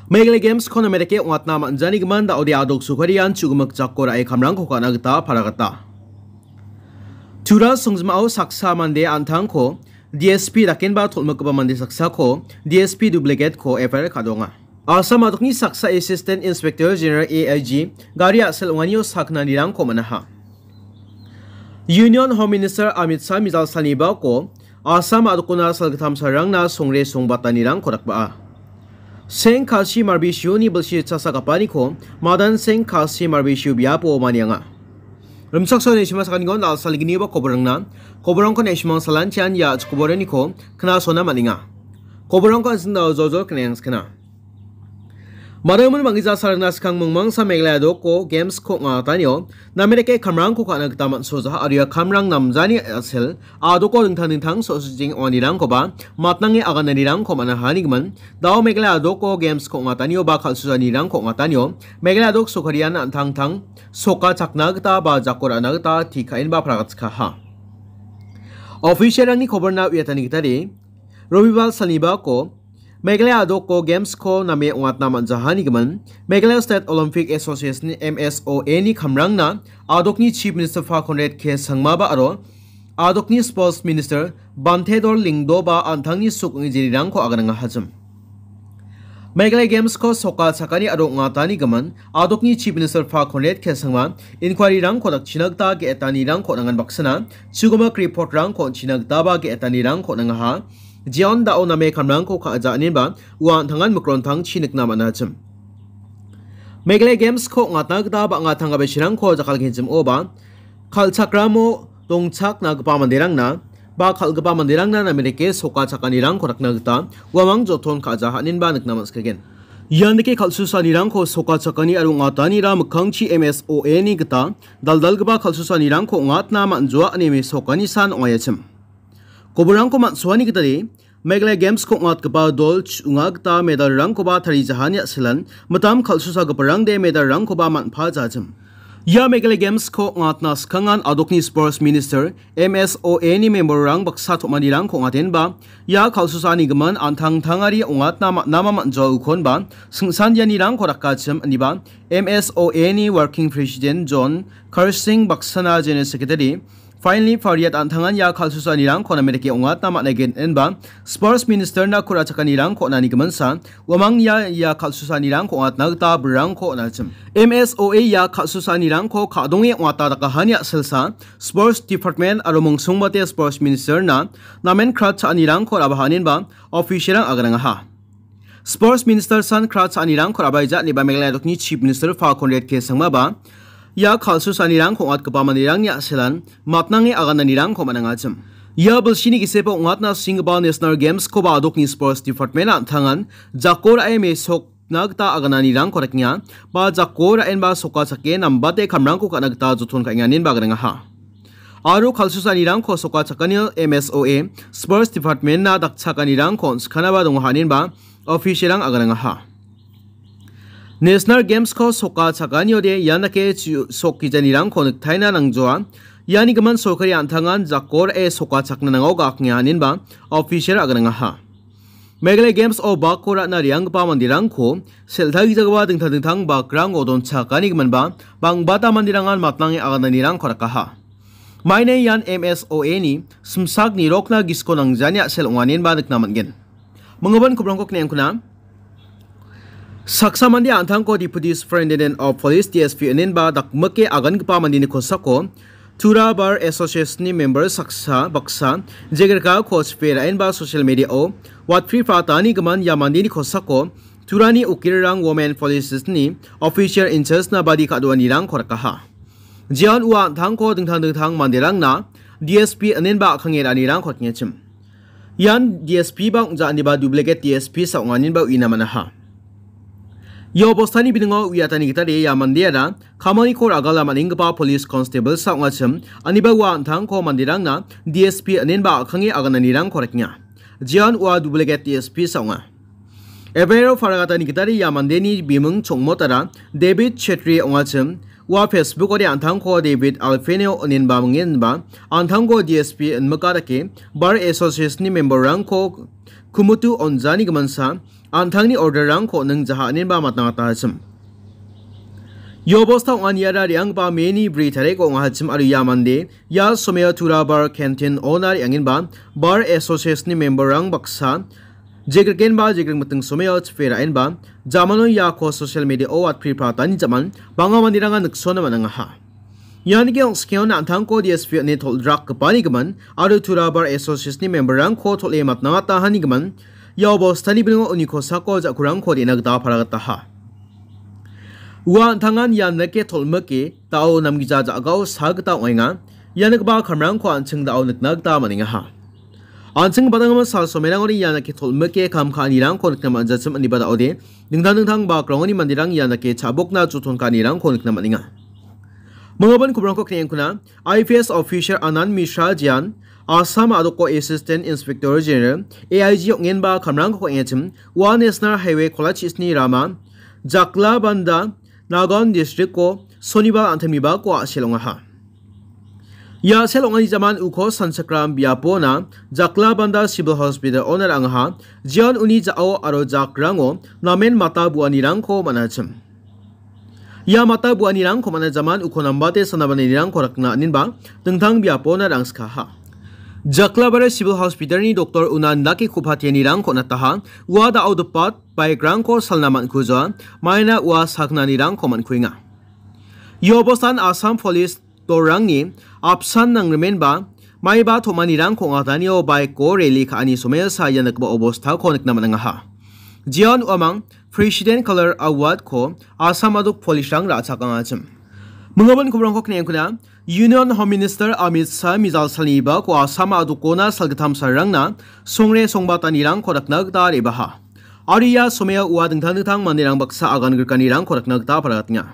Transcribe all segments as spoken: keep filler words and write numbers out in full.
Meghalaya Games-ko name dake ong·atna man·janigimin da·ode a·dok sokarian chu·gimik jako ra·e kamrangko ka·na gita paragata. Tura songjimao saksa mande an·tangko D S P dakenba tolmikgipa mande saksako D S P duplicate-ko F I R ka·donga. Assam a·dokni saksa Assistant Inspector General, A I G, gari a·sel ong·anio saknanirangko man·aha. Union Home Minister Amit Shah mijal salni bako Assam a·dokona salgittam salrangna songre songbatanirangko dakba·a. Seng Khasi Marbisiuni bilsi chasagapaniko Madan Seng Khasi Marbisiu biapo manianga. Rimchaksoani neshima sakaniko nalsaliginiba koborangna, koborangko neshimang salantian ia koboraniko knasona man·enga. Koborangko an·sing dao joljol kneng skena. Madaimon bang·gija sarangna skang mingmangsa Meghalaya a·doko Games-ko ong·atanio, name dake kamrangko ka·na gita man·sojaha aro ia kamrang namjani a·sel a·doko dingtang dingtang so·sojing ong·anirangkoba matnange agananirangko man·ahanigimin, dao Meghalaya a·doko Games-ko ong·atanio ba kal·susanirangko ong·atanio, Meghalaya a·dok sokarian an·tangtang soka chakna gita ba jako ra·na gita tikaenba paragatskaha. Official-rangni koborna uiatani gitade, Robibar salni bako Meghalaya a·doko Games-ko name ong·atna man·jahanigimin, Meghalaya State Olympic Association, M S O A-ni kamrangna a·dokni Chief Minister Pha Conrad K Sangmaba aro a·dokni Sports Minister Bantedor Lyngdohba an·tangni suk ong·e jerirangko aganangahachim. Meghalaya Games-ko soka chakani aro ong·atanigimin, a·dokni Chief Minister Pha Conrad K Sangma inquiry-rangko dakchina gita ge·etanirangko nangan baksana, chu·gimik report-rangko on·china gitaba ge·etanirangko nangaha. Jeon dao name kamrangko ka·ja aninba ua an·tangan mikrontangchi nikna man·achim. Meghalaya Games-ko ong·atna gita bang·a tangka bachirangko jakkalgenchim oba kal·chakramo dongchakna gipa manderangna ba kal·gipa manderangna name dake soka chakanirangko rakna gita uamang joton ka·ja haninba nikna man·sikagen. Ian dake kal·susanirangko soka chakani aro ong·atanira mikkangchi M S O A-ni gita dal·dalgipa kal·susanirangko ong·atna man·joa ine mesokani san ong·aiachim. Koborangko man·soani gitade, Meghalaya Games-ko ong·atgipa dol ch-, ong·a gita medal-rangkoba tarijahani a·selan, mitam kal·susagiparangde medal-rangkoba man·pajachim. Ia Meghalaya Games-ko ong·atna skangan a·dokni Sports Minister, M S O A-ni member-rang baksa tom·anirangko ong·atenba, ia kal·susanigimin an·tangtangari ong·atna man-, nama man·joaukonba, singsandianirangko rakachim, iniba, M S O A-ni Working President John Karsing baksana General Secretary, Finally, Pariat an·tangan ia kal·susanirangko name dake ong·atna man·aigen inba, Sports Minister-na ku·ra chakanirangko on·ani giminsa, uamang ia, ia kal·susanirangko ong·atna gita birangko on·achim. M S O A ia kal·susanirangko ka·donge ong·ata dakahani a·selsa, Sports Department aro mingsongbate Sports Minister-na namen krat cha·anirangko ra·baha aninba, official-rang aganangaha. Sports Minister san kra cha·anirangko ra·baija ineba Meghalaya a·dokni Chief Minister Pha Conrad K Sangmaba ia kal·susanirangko ong·atgipa manderangni a·selan matnange agananirangko man·angachim. Ia bilsini gisepo ong·atna singgipa National Games-koba a·dokni Sports Department an·tangan jako ra·e mesokna gita agananirangko rekenga, ba jako ra·enba soka chake nambate kamrangko ka·na gita joton ka·enga inenba aganangaha. Aro kal·susanirangko soka chakanio M S O A Sports Department-na dakchakanirangko on·sikanaba donga haninba official-rang aganangaha. National Games-ko soka chakaniode ian dake chu-, sokkijanirangko niktaina nangjoa. Iani gimin sorkari an·tangan jako ra·e soka chakna nango ga·akenga haninba official aganangaha. Meghalaya Games-o bakko ra·na re·anggipa manderangko sel·tagijagaba dingtang dingtang bakrango donchakani giminba, bang·bata manderangan matnange agananirangko rakaha. Maina ian M S O A-ni simsak nirokna gisiko nangjani a·sel ong·anenba nikna man·gen. Minggipa kobrangko kne·angkuna. Saksa mande an·tangko Deputy Superintendent of Police, D S P, inenba dakmike agangipa mandeni kosako Tura Bar Association-ni member saksa baksa jegrikako chipe ra·enba social media-o watpri pratani gimin ia mandeni kosako Turani ukirang Women Police-ni official in charge-na badi ka·doanirangko rakaha. Jeon ua an·tangko dingtang dingtang manderangna D S P inenba a·kange ra·anirangko tengechim. Ian D S P ba ong·ja aniba duplicate D S P sa ong·aninba uina man·aha. Ia obostani biningo uiatani gitade ia mandeara kamalniko ragala man·enggipa police constable sa ong·achim, aniba ua an·tangko manderangna D S P inenba a·kange agananirangko rekenga. Jeon ua duplicate D S P sa ong·a. Ebrero paragatani gitade ia mandeni biming chongmotara David Chetri ong·achim, ua Facebook-ode an·tangko David Alfenio inenba mingenba, an·tangko D S P inmika dake Bar Association-ni member-rangko kumutu onjani giminsa, an·tangni order-rangko ningjaha inenba matna gita hachim. Ia obosta ong·aniara re·anggipa May-ni bri tariko ong·ahachim aro ia mande, ia someo Turabar Canteen owner re·angenba, Bar Association-ni member-rang baksa, jekrikenba jekrik miting someo chipe ra·enba, jamano iako social media-o watpri pratani jaman, bang·a manderanga niksona man·angaha. Ian ge ong·skeo an·tangko D S P on·e tol·rakgipani gimin aro Turabar Association-ni member-rangko tol·e matna gita hani gimin, ia obostani bilingo uni kosako ja·kurangko re·na gita paragataha. Ua an·tangan ian nike tol·mike da·o namgija ja·gao sa gita ong·enga. Ia nikgipa kamrangko an·ching da·o nikna gita man·engaha. An·ching badanggimin sal somerangoni ia nike tol·mike kam ka·anirangko nikna man·jachim, indiba da·ode dingtang dingtang bakrangoni manderang ia nike cha·bokna joton ka·anirangko nikna man·enga. Manggipa kobrangko kne·engkuna, I P S officer Anand Mishra jean, Assam a·doko Assistant Inspector General, A I G ong·enba kamrangko ka·engachim, ua National Highway kolachis-ni rama, Jaklabanda, Nagaon district-o Sonibar an·tangni bako a·sel ong·aha. Ia a·sel ong·ani jaman uko sanchakram biapona Jaklabanda Civil Hospital-ona ra·angaha, jeon uni ja·o aro jakrango namen mata buanirangko man·achim. Ia mata buanirangko man·a jaman uko nambate sanabanirangko rakna aninba dingtang biapona ra·angskaha. Jaklabanda Civil Hospital-ni doktor una indake ku·patianirangko nataha, ua da·o dipat bike-rangko salna man·kujoa, maina ua saknanirangko man·kuenga. Ia obostan Assam Police dolrangni apsan nangrimenba maiba tom·anirangko ong·atanio bike-o rally ka·ani somosa ia nikgipa obostako nikna man·angaha. Jeon uamang President Color Award-ko Assam a·dok police-rang ra·chakangachim. Mingabon kobrangko kne·engkuna, Union Home Minister Amit Shah mijal salni bako Assam a·dokona salgittam salrangna songre songbatanirangko dakna gita re·baha. Aro ia somao ua dingtang dingtang manderang baksa agan grikanirangko dakna gita paragatenga.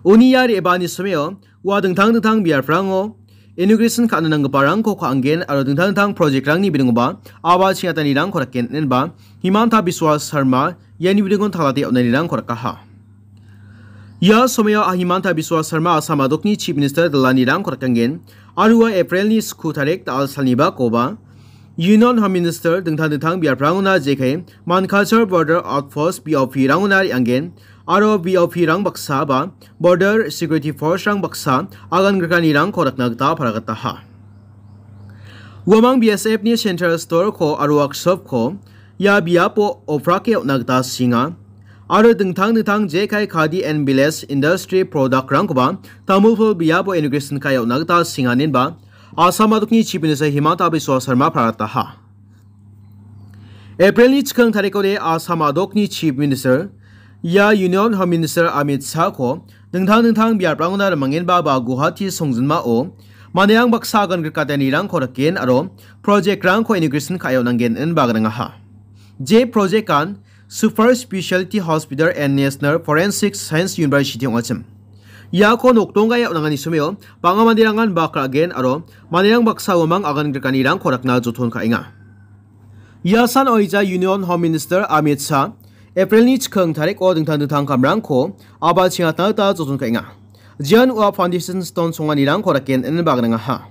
Uni ia re·baani somao ua dingtang dingtang biaprango inauguration ka·na nanggiparangko ka·angen aro dingtang dingtang project-rangni bilingoba aba chingatanirangko daken inenba Himanta Biswa Sarma iani bilingon talate on·anirangko dakaha. Ia somao Himanta Biswa Sarma Assam a·dokni Chief Minister dalanirangko dakengen aro ua April-ni sku tarik da·al salnibakoba Union Home Minister dingtang dingtang biaprangona jekai Mankachaar Border Outpost B O P-rangona re·angen aro B O P-rang baksa ba Border Security Force-rang baksa agan grikanirangko dakna gita paragataha. Uamang B S F-ni Central Store-ko aro Workshop-ko ia biapo oprake on·na gita singa. Aro dingtang dingtang jekai Khadi and Village Industry product-rangkoba Tamulpur biapo inauguration ka·e on·na gita singa inenba Assam a·dokni Chief Minister Himanta Biswa Sarma parataha. April-ni chikang tarikode Assam a·dokni Chief Minister, ia Union Home Minister Amit Shah-ko dingtang dingtang biaprangona rimangenba ba Guwahati songjinmao manderang baksa agan grikatanirangko riken aro project-rangko inauguration ka·e on·angen inenba gnangaha. Je project-an Super Specialty Hospital and National Forensic Science University ong·achim. Iako nokdonggae on·angani somao bang·a manderangan bak ra·gen aro manderang baksa uamang agan grikanirangko rakna joton ka·enga. Ia san oija Union Home Minister Amit Shah April-ni chikang tariko dingtang dingtang kamrangko aba chingatna gita joton ka·enga. Jeon ua foundation stone songanirangko raken inenba gnangaha.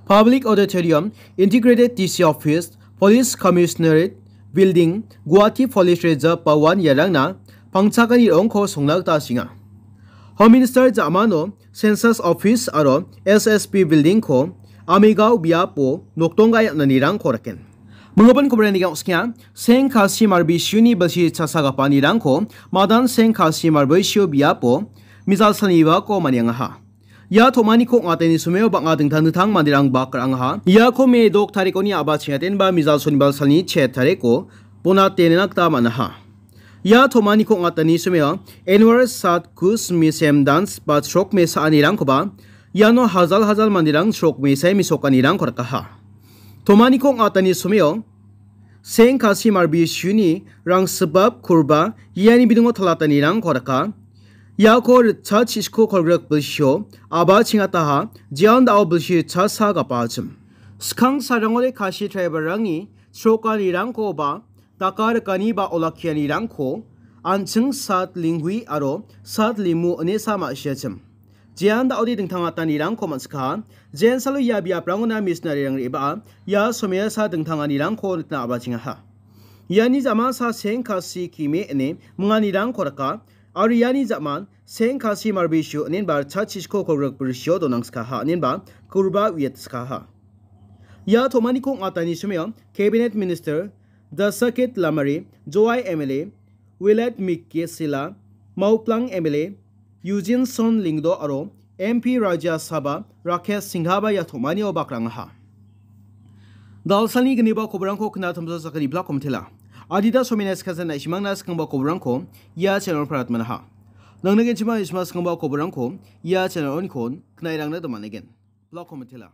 Public Auditorium, Integrated D C Office, Police Commissionerate Building, Guwahati Police Reserve Bhawan iarangna pangchakani ro·ongko songna gita singa. Home Minister ja·mano Census Office aro S S B Building-ko Amigao biapo nokdonggae on·anirangko raken. Mingabon kobrani ong·skenga, Seng Khasi Marbisiuni bilsi chasagapanirangko Madan Seng Khasi Marbisio biapo mijal salnibako maniangaha. Ia tom·aniko ong·atani somao bang·a dingtang dingtang manderang bak ra·angaha. Iako Me dok tarikoni a·ba chingatenba mijal sonibal salni chet tariko bona tenena gita man·aha. Ia tom·aniko ong·atani somao Anwar Sat Kus Misem Dans ba chrok me sa·anirangkoba iano hajal hajal manderang chrok me sai mesokanirangko rikaha. Tom·aniko ong·atani somao Seng Khasi Marbisiuni rangsibap kurba iani bidingo talatanirangko rika. Iako ritcha chisiko kolgrik bilsio a·ba chingataha, jeon da·o bilsi ritcha sa gapachim. Skang sarangode Khasi tribalrangni chrokanirangko ba daka rikani ba olakkianirangko an·ching Sat Linghui aro Sat Limu ine sa ma·siachim. Jean da·ode dingtang atanirangko man·sikaha, jean salo ia biaprangona missionary-rang re·baa ia somesa dingtanganirangko nikna a·bachengaha. Iani ja·mansa Seng Kasi Kime ine minganirangko raka, aro iani ja·man Seng Kasi Marbisio inenba Chachisko Korok Brisio donangskaha inenba Kurba Wietskaha. Ia tomaniko ong·atani somio Cabinet Minister Dasakit Lamare, Jowai M L A Willard Mikesila, Mauplang M L A Eugene Son Lingdo aro M P Rajya Sabha Rakesh Singhaba ia tomanio bakrangaha. Dalsalni gniba koborangko kna tamsa sakani blak komitela. Adita somina skasan naishimangna skangba koborangko ia channel parat manaha. Nangna genchima ishma skangba koborangko ia channel onikon knairangna damanegen. Blak komitela.